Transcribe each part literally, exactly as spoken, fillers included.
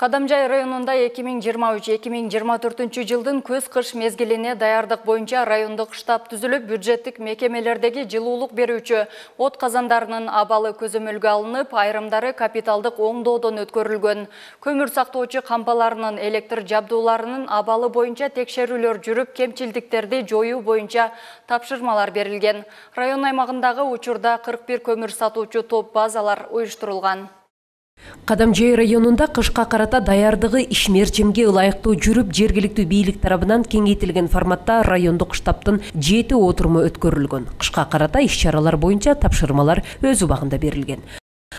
Кадамжай районунда эки миң жыйырма үч эки миң жыйырма төртүнчү жылдын көз-кыш мезгилине даярдык боюнча райондук штаб түзүлүп, бюджеттик мекемелердеги жылуулук берүүчү от казандарынын абалы көзөмөлгө алынып, айрымдары капиталдык оңдоодон өткөрүлгөн. Көмүр сактоочу кампаларынын электр жабдууларынын абалы боюнча текшерүүлөр жүрүп, кемчилдиктерди жоюу боюнча тапшырмалар берилген. Район аймагындагы учурда кырк бир көмүр сатуучу топ базалар уюштурулган. Кадамжай районунда кышка карата даярдыгы ишмерчимге ылайыктуу жүрүп, жергиликтүү бийлик тарабынан кеңейтилген форматта райондук штабтын жети отуруму өткөрүлгөн. Кышка карата иш-чаралар боюнча тапшырмалар өз убагында берилген.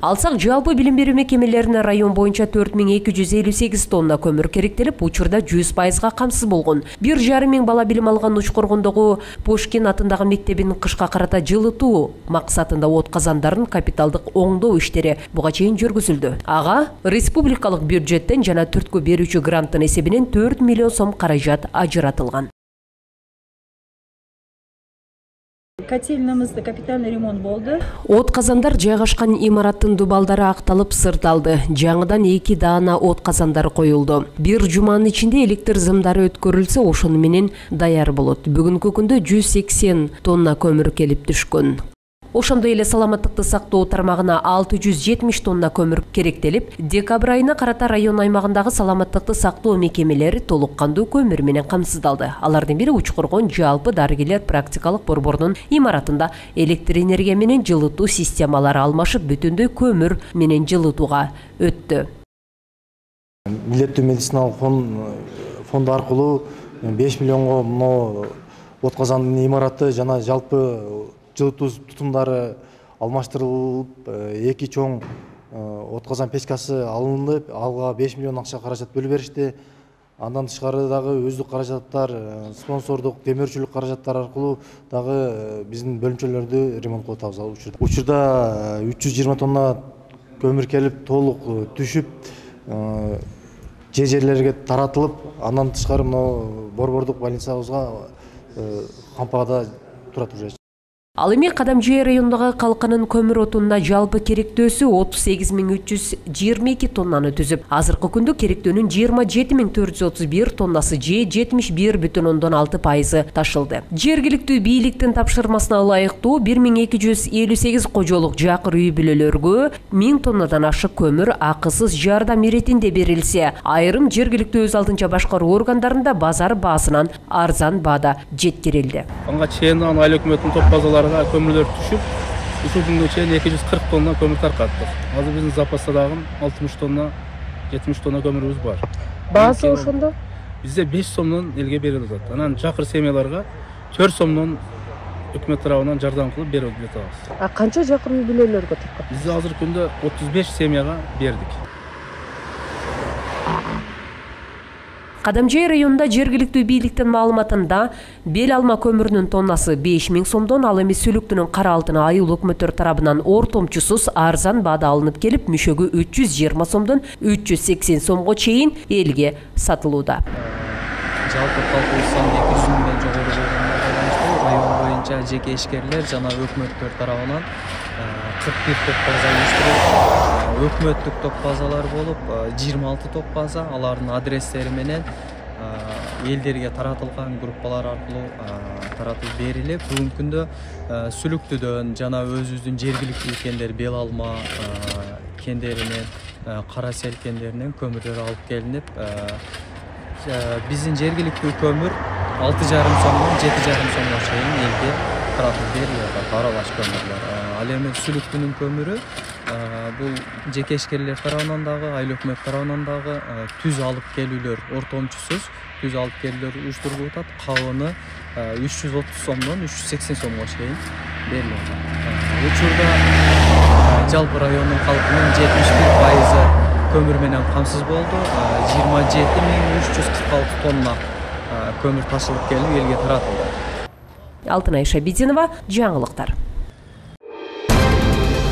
Алсак, жалпы билим берүү мекемелерине район боюнча төрт миң эки жүз элүү сегиз тонна көмүр керектелип, учурда жүз пайызга камсыз болгон. бир жарым миң бала билим алган Учкоргондогу Пушкин атындагы мектебинин кышка карата жылытуу максатында от казандарын капиталдык оңдоо иштери буга чейин жүргүзүлдү. Ага республикалык бюджеттен жана түрткү берүүчү гранттын эсебинен төрт миллион сом каражат ажыратылган. Котельнамызда капитальный ремонт болду. От казандар жайгашкан имараттын дубалдары акталып сырталды. Жаңыдан эки даана от казандары коюлду. Бир жуманын ичинде электр зымдары өткөрүлсө, ошону менен даяр болот. Бүгүнкү күндө жүз сексен тонна көмүр келип түшкөн. Ошондой эле саламаттыкты сактоо тармагына алты жүз жетимиш тонна көмүр керектелип, декабрь айына карата район аймагындагы саламаттыкты сактоо мекемелери толук кандуу көмүр менен камсыздалды. Алардын бири Учкоргон жалпы дарыгерлер практикалык борборунун имаратында электр энергия менен жылытуу системалары алмашып, бүтүндөй көмүр менен жылытууга өттү. Милдеттүү медициналык фонду аркылуу беш миллионго мына от казандын имараты жана жалпы жылытуу тутумдары алмаштырылып, эки чоң от казан печкасы алынып, алга беш миллион акча каражат бөлүп беришти. Андан тышкары дагы өздүк каражаттар, спонсордук, темирчүлүк каражаттар аркылуу дагы биздин бөлүмчөлөрдү ремонт кылып атабыз учурда. Учурда үч жүз жыйырма тонна көмүр келип, толук түшүп, же жерлерге таратылып, андан тышкары мына борбордук больницабызга кампада турат уже. Ал эми Кадамжай районундагы калканын көмүр отунуна жалпы керектөөсү отуз сегиз миң үч жүз жыйырма эки тоннаны түзүп, азыркы күндө керектөөнүн жыйырма жети миң төрт жүз отуз бир тоннасы же жетимиш бир бүтүн ондон алты пайызы ташылды. Жергиликтүү бийликтин тапшырмасына ылайыктуу бир миң эки жүз элүү сегиз кожолук жакыр үй бүлөлөргө миң тоннадан ашык көмүр акысыз жардам иретинде берилсе, айрым жергиликтүү өз алдынча башкаруу органдарында базар баасынан арзан баада жеткирилди. Анга чейин айлык өкмөттүн топ базалары көмүрлөр түшүп, ушул күнгө чейин эки жүз кырк тонна көмүр таркаттык. Азыр биздин запаста дагы алтымыш тонна, жетимиш тонна көмүрүбүз бар. Баасы ошондо? Бизде беш сомдон элге берилип жатат. Анан жакыр семьяларга төрт сомдон өкмөт тарабынан жардам кылып берип жатабыз. А канча жакыр үй бүлөлөргө таркатты? Биз азыр күндө отуз беш семьяга бердик. Кадамжай районунда жергиликтүү бийликтин маалыматында бел алма көмүрүнүн тоннасы беш миң сомдон, ал эми сүлүктүнүн кара алтыны айыл өкмөттөр тарабынан ортомчусуз арзан баада алынып келип, мүшөгү үч жүз жыйырма сомдон үч жүз сексен сомго чейин элге сатылууда. Жалпы калкуу саны эки жүз миңден жогору болгонуна байланыштуу район боюнча жеке ишкерлер жана өкмөттөр тарабынан кырк бир топ база уюштурулуп, өкмөттүк топ базалар болуп, жыйырма алты топ база, алардын адрестери менен элдерге таратылган группалар аркылуу таратылып берилип, бүгүнкү күндө сүлүктүдөн жана өзүбүздүн жергиликтүү кендер бел алма кендеринен, кара сел кендеринен көмүрлөр алып келинип, биздин жергиликтүү көмүр алты жарым сомдон жети жарым сомго чейин элге таратылып берилет, аралаш көмүрлөр. Ал эми сүлүктүнүн көмүрү бул жеке ишкерлер тарабынан дагы, айыл өкмөт тарабынан дагы түз алып келүүлөр ортомчусуз түз алып келүүлөр уюштурулуп атат. Калыны үч жүз отуз сомдон үч жүз сексен сомго чейин берилип атат. Учурда жалпы райондун калкынын жетимиш бир пайызы көмүр менен камсыз болду. жыйырма жети миң үч жүз кырк алты тонна көмүр ташылып келип элге таратылды. Алтынай Шабидинова, жаңылыктар.